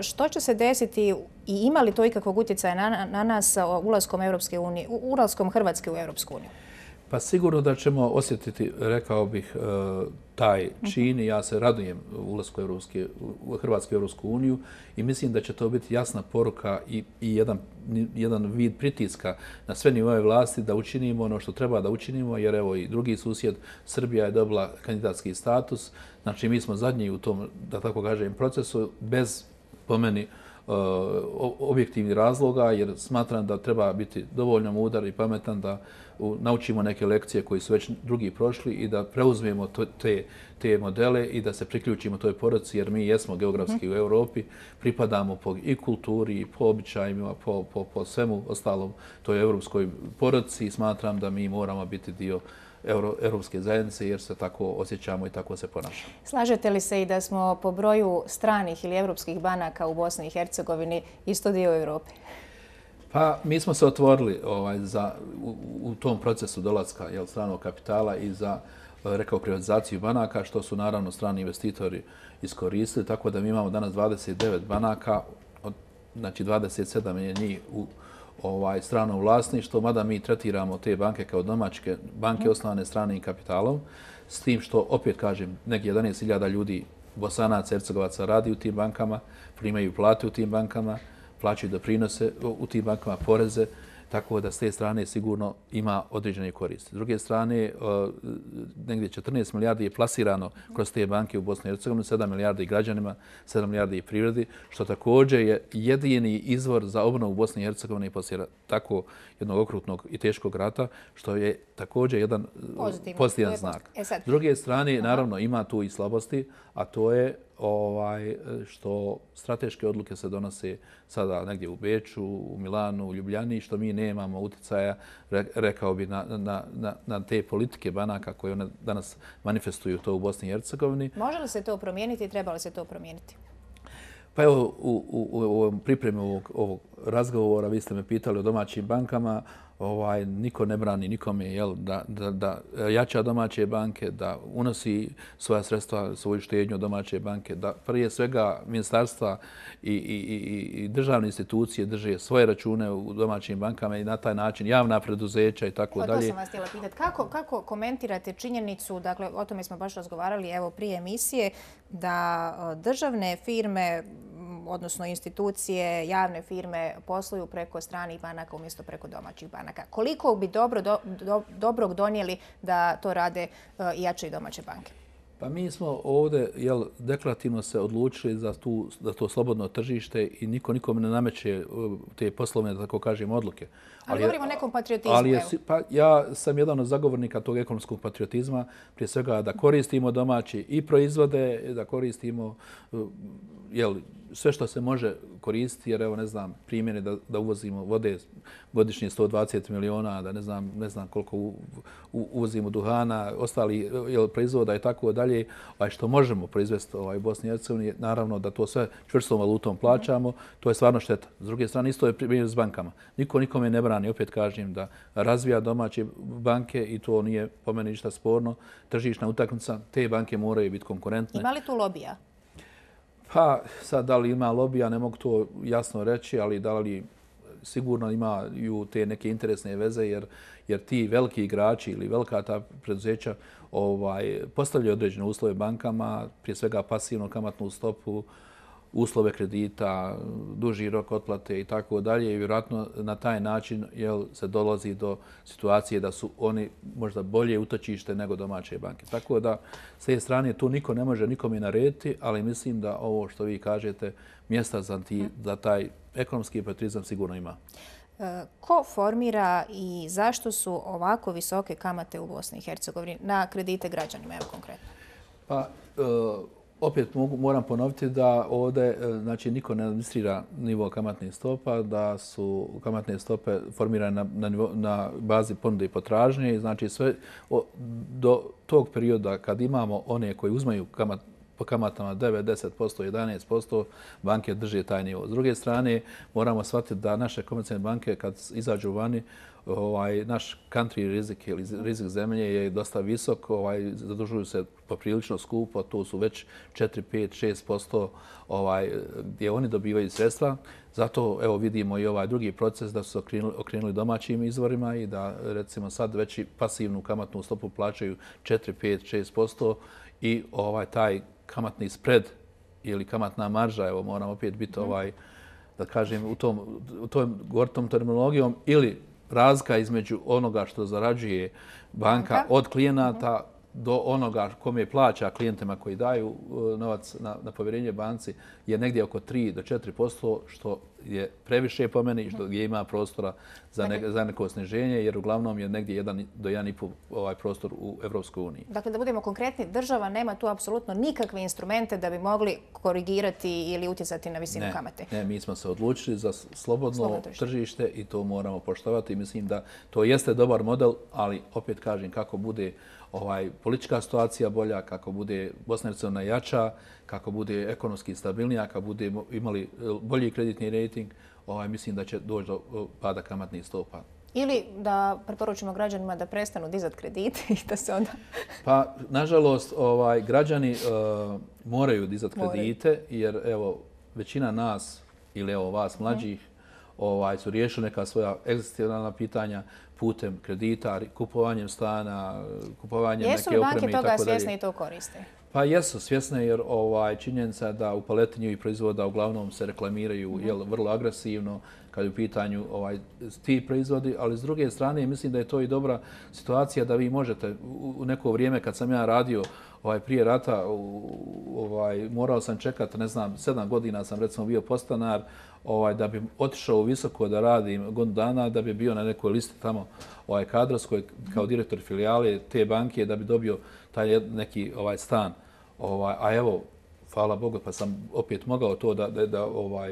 Što će se desiti i ima li to ikakvog utjecaja na nas ulaskom Hrvatske u Europsku uniju? Pa sigurno da ćemo osjetiti, rekao bih, taj čin i ja se radujem ulasku Hrvatske u Europsku uniju i mislim da će to biti jasna poruka i jedan vid pritiska na sve nivoe vlasti da učinimo ono što treba da učinimo, jer evo i drugi susjed, Srbija je dobila kandidatski status. Znači mi smo zadnji u tom, da tako kažem, procesu bez, po meni, objektivnih razloga, jer smatram da treba biti dovoljno mudar i pametan da naučimo neke lekcije koje su već drugi prošli i da preuzmemo te modele i da se priključimo toj porodici, jer mi jesmo geografski u Europi, pripadamo po i kulturi, i po običajima, po svemu ostalom toj europskoj porodici i smatram da mi moramo biti dio Europske zajednice jer se tako osjećamo i tako se ponašamo. Slažete li se i da smo po broju stranih ili europskih banaka u Bosni i Hercegovini isto dio Europe? Pa mi smo se otvorili u tom procesu dolaska stranog kapitala i za, rekao, privatizaciju banaka, što su naravno strani investitori iskoristili, tako da mi imamo danas 29 banaka, znači 27 je njih u stranom vlasništvu, mada mi tretiramo te banke kao domaće banke osnovane stranim kapitalom, s tim što, opet kažem, negdje 11.000 ljudi, Bosanaca, Hercegovaca radi u tim bankama, primaju plate u tim bankama, plaćaju doprinose u tim bankama, poreze, tako da s te strane sigurno ima određene koristi. S druge strane, negdje 14 milijardi je plasirano kroz te banke u Bosni i Hercegovini, 7 milijardi građanima, 7 milijardi privredi, što također je jedini izvor za obnovu Bosne i Hercegovine poslije tako jednog okrutnog i teškog rata, što je također jedan pozitivan znak. S druge strane, naravno, ima tu i slabosti, a to je što strateške odluke se donose sada negdje u Beču, u Milanu, u Ljubljani, što mi nemamo utjecaja, rekao bi, na te politike banaka koje one danas manifestuju to u Bosni i Hercegovini. Može li se to promijeniti i treba li se to promijeniti? Pa evo, u pripremi ovog razgovora vi ste me pitali o domaćim bankama. Niko ne brani nikome da jača domaće banke, da unosi svoja sredstva, svoju štednju domaće banke, da prije svega ministarstva i državne institucije drže svoje račune u domaćim bankama i na taj način javna preduzeća i tako dalje. To sam vas htjela pitati. Kako komentirate činjenicu, dakle o tome smo baš razgovarali evo prije emisije, da državne firme, odnosno institucije, javne firme posluju preko stranih banaka umjesto preko domaćih banaka? Koliko bi dobrog donijeli da to rade i jače i domaće banke? Pa mi smo ovdje deklarativno se odlučili za to slobodno tržište i niko nikome ne nameće te poslovne, da tako kažem, odluke. Ali govorimo o nekom patriotizmu. Ja sam jedan od zagovornika tog ekonomskog patriotizma, prije svega da koristimo domaći i proizvode, da koristimo sve što se može koristiti, jer evo ne znam, primjeri da uvozimo vode godišnje 120 miliona, da ne znam koliko uvozimo duhana, ostali proizvoda i tako dalje, a što možemo proizvesti u Bosni i Hercegovini, naravno da to sve čvrstom valutom plaćamo, to je stvarno šteta. S druge strane, isto je primjer s bankama. Niko nikome ne brani, opet kažem, da razvija domaće banke i to nije po meni ništa sporno. Tržišna utakmica, te banke moraju biti konkurentne. Ima li tu lobija? Pa sad da li ima lobija, ne mogu to jasno reći, ali da li sigurno imaju te neke interesne veze, jer ti veliki igrači ili velika ta preduzeća postavljaju određene uslove bankama, prije svega pasivnu kamatnu stopu, uslove kredita, duži rok otplate i tako dalje. I vjerojatno na taj način se dolazi do situacije da su oni možda bolje utočište nego domaće banke. Tako da s te strane tu niko ne može nikome narediti, ali mislim da ovo što vi kažete, mjesta za taj ekonomski patriotizam sigurno ima. Ko formira i zašto su ovako visoke kamate u Bosni i Hercegovini na kredite građanima, evo konkretno? Pa, opet moram ponoviti da ovdje niko ne administrira nivo kamatnih stopa, da su kamatne stope formirane na bazi ponude i potražnje. Znači sve do tog perioda kad imamo one koji uzmaju po kamatama 9, 10%, 11%, banke drže taj nivo. S druge strane, moramo shvatiti da naše komercijalne banke kad izađu vani, naš country rizik ili rizik zemlje je dosta visok, zadužuju se poprilično skupo, to su već 4, 5, 6% gdje oni dobivaju sredstva. Zato evo vidimo i ovaj drugi proces da su okrenuli domaćim izvorima i da recimo sad već i pasivnu kamatnu stopu plaćaju 4, 5, 6% i taj kamatni spread ili kamatna marža, evo moram opet biti da kažem u tom terminologijom ili razlika između onoga što zarađuje banka od klijenata do onoga kome plaća klijentima koji daju novac na povjerenje banci je negdje oko 3 do 4%, što je previše po meni, što gdje ima prostora za neko sniženje, jer uglavnom je negdje 1 do 1,5 prostor u Evropskoj uniji. Dakle, da budemo konkretni, država nema tu apsolutno nikakve instrumente da bi mogli korigirati ili utjecati na visinu kamate. Ne, mi smo se odlučili za slobodno tržište i to moramo poštovati. Mislim da to jeste dobar model, ali opet kažem kako bude politička situacija bolja, kako bude Bosna i Hercegovina jača, kako bude ekonomski stabilnija, kako bude imali bolji kreditni rating, mislim da će doći do pada kamatnih stopa. Ili da preporučimo građanima da prestanu dizati kredite i da se onda... Pa, nažalost, građani moraju dizati kredite, jer evo, većina nas ili evo vas mlađih su riješili neka svoja egzistencijalna pitanja putem kredita, kupovanjem stana, kupovanjem neke opreme i tako dalje. Jesu li banke toga svjesne i to koriste? Pa jesu svjesne jer činjenica da u paleti i proizvoda uglavnom se reklamiraju vrlo agresivno kad je u pitanju ti proizvodi, ali s druge strane mislim da je to i dobra situacija da vi možete u neko vrijeme kad sam ja radio prije rata, morao sam čekati, ne znam, 7 godina sam recimo bio podstanar da bi otišao u visoko da radim godinu dana, da bi bio na nekoj listi tamo kadrovskoj kao direktor filijale te banke da bi dobio taj neki stan. A evo, hvala Bogu, pa sam opet mogao to da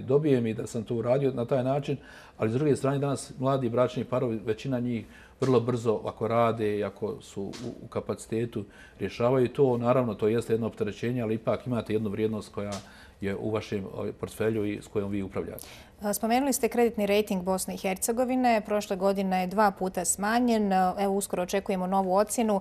dobijem i da sam to uradio na taj način, ali s druge strane danas mladi bračni parovi, većina njih vrlo brzo ako rade i ako su u kapacitetu rješavaju to. Naravno, to jeste jedno opterećenje, ali ipak imate jednu vrijednost koja je u vašem portfelju i s kojom vi upravljate. Spomenuli ste kreditni rating Bosne i Hercegovine. Prošle godine je 2 puta smanjen. Evo, uskoro očekujemo novu ocjenu.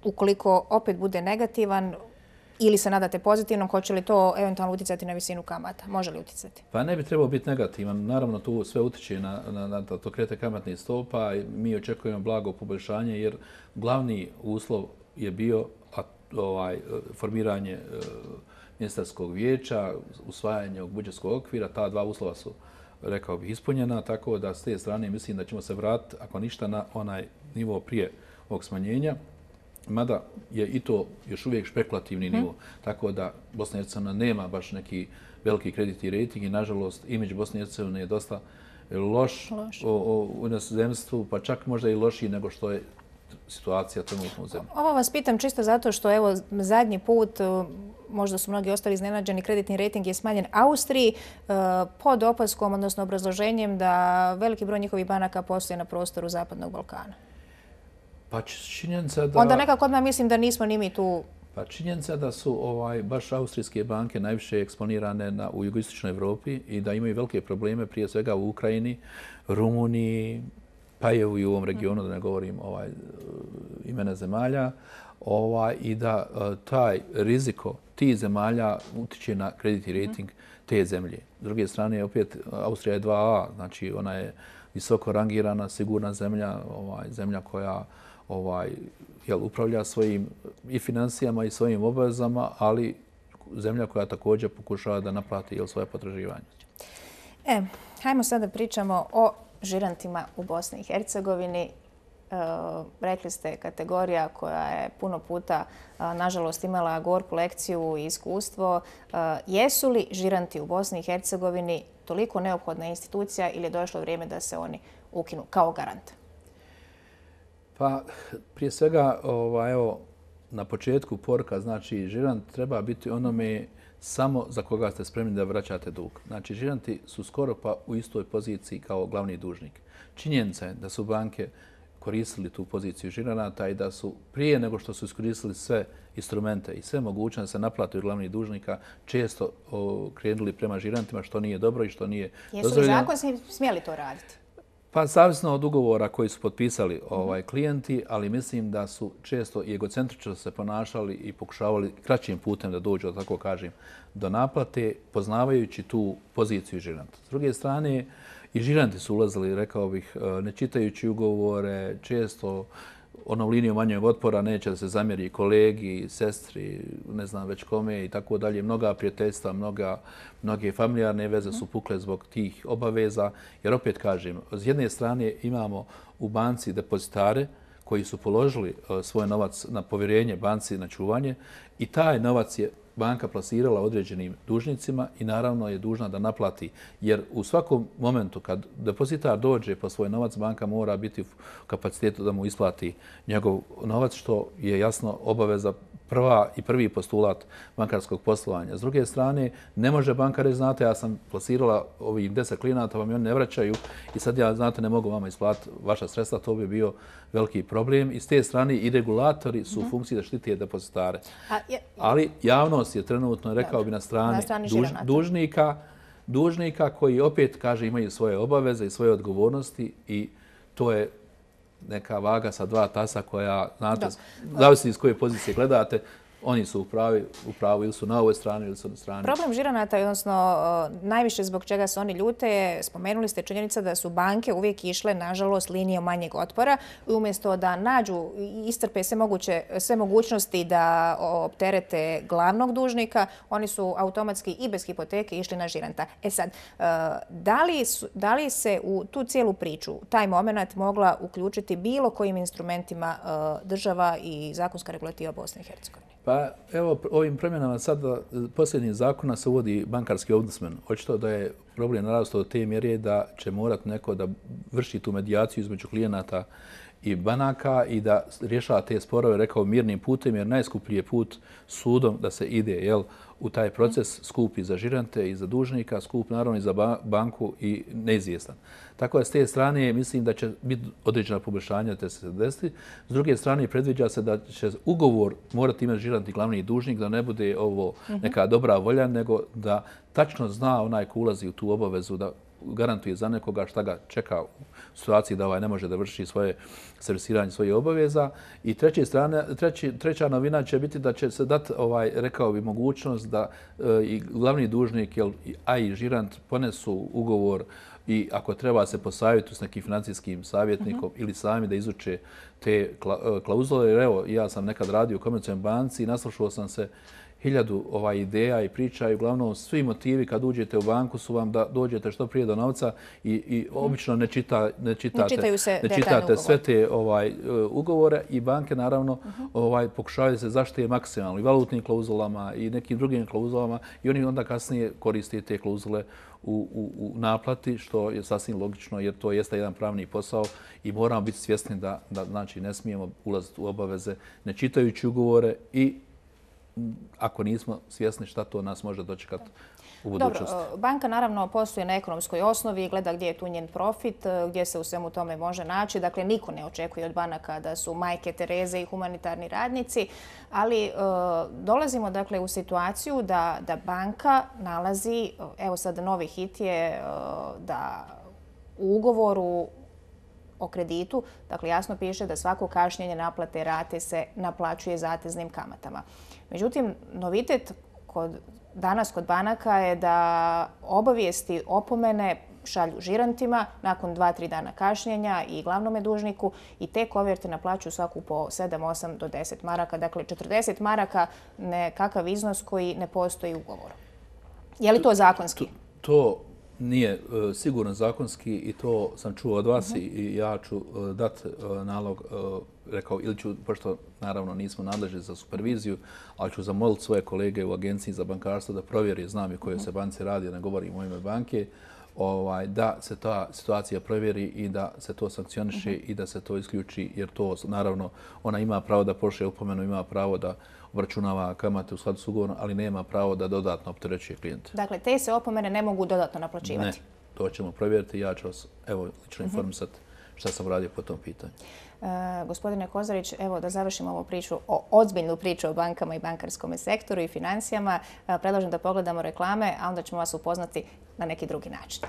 Ukoliko opet bude negativan ili se nadate pozitivnom, hoće li to eventualno utjecati na visinu kamata? Može li utjecati? Pa ne bi trebao biti negativan. Naravno, tu sve utječe na to kretanje kamatnih stopa. Mi očekujemo blago poboljšanje jer glavni uslov je bio formiranje ministarskog vijeća, usvajanje ovog budžetskog okvira. Ta 2 uslova su, rekao bih, ispunjena, tako da s te strane mislim da ćemo se vratiti, ako ništa, na onaj nivo prije ovog smanjenja. Mada je i to još uvijek špekulativni nivo, tako da Bosna i Hercegovina nema baš neki veliki kreditni rating i nažalost imidž Bosne i Hercegovine je dosta loš u inozemstvu, pa čak možda i lošiji nego što je situacija trenutno u zemlji. Ovo vas pitam čisto zato što evo zadnji put, možda su mnogi ostali iznenađeni, kreditni rating je smanjen Austriji pod opaskom, odnosno obrazloženjem da veliki broj njihovih banaka postoje na prostoru Zapadnog Balkana. Pa činjenica da... Onda nekako odmah mislim da nismo ni mi tu... Pa činjenica da su baš austrijske banke najviše eksponirane u jugoistočnoj Evropi i da imaju velike probleme prije svega u Ukrajini, Rumuniji, pa i u ovom regionu, da ne govorim imena zemalja, i da taj riziko tih zemalja utiče na kreditni rating te zemlje. S druge strane, opet, Austrija je 2A, znači ona je visoko rangirana, sigurna zemlja, zemlja koja upravlja svojim i financijama i svojim obavezama, ali zemlja koja također pokušava da naplati svoje potraživanje. Hajmo sada pričamo o žirantima u Bosni i Hercegovini. Rekli ste kategorija koja je puno puta, nažalost, imala gorku lekciju i iskustvo. Jesu li žiranti u Bosni i Hercegovini toliko neophodna institucija ili je došlo vrijeme da se oni ukinu kao garant? Pa, prije svega, evo, na početku poruka, znači, žirant treba biti onome samo za koga ste spremni da vraćate dug. Znači, žiranti su skoro pa u istoj poziciji kao glavni dužnik. Činjenica je da su banke koristili tu poziciju žiranata i da su prije nego što su iskoristili sve instrumente i sve mogućnosti da se naplate od glavnih dužnika često krenuli prema žirantima, što nije dobro i što nije dozvoljeno. Jesu li zakon smjeli to raditi? Pa zavisno od ugovora koji su potpisali klijenti, ali mislim da su često i egocentrično se ponašali i pokušavali kraćim putem da dođu, da tako kažem, do naplate, poznavajući tu poziciju žiranta. S druge strane, i žiranti su ulazili, rekao bih, ne čitajući ugovore, često onom linijom manjeg otpora neće da se zamjeri kolegi, sestri, ne znam već kome i tako dalje. Mnoga prijateljstva, mnoge familijarne veze su pukle zbog tih obaveza. Jer opet kažem, s jedne strane imamo u banci depozitare koji su položili svoj novac na povjerenje banci na čuvanje i taj novac je banka plasirala određenim dužnicima i naravno je dužna da naplati. Jer u svakom momentu kad depozitar dođe po svoj novac, banka mora biti u kapacitetu da mu isplati njegov novac, što je jasno obaveza prvi postulat bankarskog poslovanja. S druge strane, ne može banka reći, znate, ja sam plasirala ovih 10 klijenata, vam oni ne vraćaju i sad ja, znate, ne mogu vama isplatiti vaša sredstva, to bi bio veliki problem. I s te strane i regulatori su u funkciji da štite depozitare. Ali javnost je trenutno, rekao bi, na strani dužnika koji opet, kaže, imaju svoje obaveze i svoje odgovornosti i to je neka vaga sa dva tasa koja, znate, zavisi iz koje pozicije gledate, oni su u pravu ili su na ovoj strani ili su na strani. Problem žiranata, odnosno najviše zbog čega se oni ljute, spomenuli ste činjenica da su banke uvijek išle, nažalost, linijom manjeg otpora i umjesto da nađu i iscrpe sve mogućnosti da opterete glavnog dužnika, oni su automatski i bez hipoteke išli na žiranta. E sad, da li se u tu cijelu priču, taj moment mogla uključiti bilo kojim instrumentima država i zakonska regulativa Bosne i Hercegovine? Pa evo, ovim promjenama sada posljednjih zakona se uvodi bankarski ombudsman. Očito da je problem narastao do te mjere da će morati neko da vrši tu medijaciju između klijenata i banaka i da rješava te sporove, rekao, mirnim putem, jer najskuplji je put sudom da se ide u taj proces, skup i za žirante i za dužnika, skup naravno i za banku i neizvjestan. Tako da s te strane mislim da će biti određena poboljšanja da se desiti. S druge strane predviđa se da će ugovor morati imati žirant i glavni dužnik, da ne bude ovo neka dobra volja, nego da tačno zna onaj ko ulazi u tu obavezu da garantuje za nekoga šta ga čeka u situaciji da ne može da vrši svoje servisiranje svojih obaveza. I treća novina će biti da će se dati, rekao bi, mogućnost da i glavni dužnik, a i žirant ponesu ugovor i ako treba se posavjetu s nekim financijskim savjetnikom ili sami da izuče te klauzule. Jer evo, ja sam nekad radio u komercijalnoj banci i naslušao sam se 1000 ideja i priča i uglavnom svi motivi kad uđete u banku su vam da dođete što prije do novca i obično ne čitate sve te ugovore i banke naravno pokušavaju da se zaštite maksimalno i valutnim klauzulama i nekim drugim klauzulama i oni onda kasnije koriste te klauzule u naplati, što je sasvim logično jer to jeste jedan pravni posao i moramo biti svjesni da znači ne smijemo ulaziti u obaveze ne čitajući ugovore i ako nismo svjesni šta to nas može dočekati u budućnosti. Dobro, banka naravno posluje na ekonomskoj osnovi i gleda gdje je tu njen profit, gdje se u svemu tome može naći. Dakle, niko ne očekuje od banaka da su majke Tereze i humanitarni radnici, ali dolazimo dakle u situaciju da banka nalazi, evo sad novi hit je da u ugovoru o kreditu, dakle jasno piše da svako kašnjenje naplate rate se naplaćuje zateznim kamatama. Međutim, novitet danas kod banaka je da obavijesti opomene šalju žirantima nakon 2-3 dana kašnjenja i glavnome dužniku i te koverte naplaćuju svaku po 7, 8 do 10 maraka. Dakle, 40 maraka nekakav iznos koji ne postoji u ugovoru. Je li to zakonski? To nije sigurno zakonski i to sam čuo od vas i ja ću dati nalog, rekao, ili ću, pošto naravno nismo nadležni za superviziju, ali ću zamoliti svoje kolege u Agenciji za bankarstvo da provjeri, znam i koje se banci radi, ne govorim o ime banke, da se ta situacija provjeri i da se to sankcioniše i da se to isključi, jer to naravno ona ima pravo da pošalje opomenu, ima pravo da obračunava kamate u skladu s ugovorom, ali nema pravo da dodatno opterećuje klijente. Dakle, te se opomene ne mogu dodatno naplaćivati? Ne, to ćemo provjeriti. Ja ću vas lično informisati šta sam radio po tom pitanju. Gospodine Kozarić, evo da završimo ovu priču, ozbiljnu priču o bankama i bankarskom sektoru i financijama. Predlažem da pogledamo reklame, a onda ćemo vas upoznati na neki drugi način.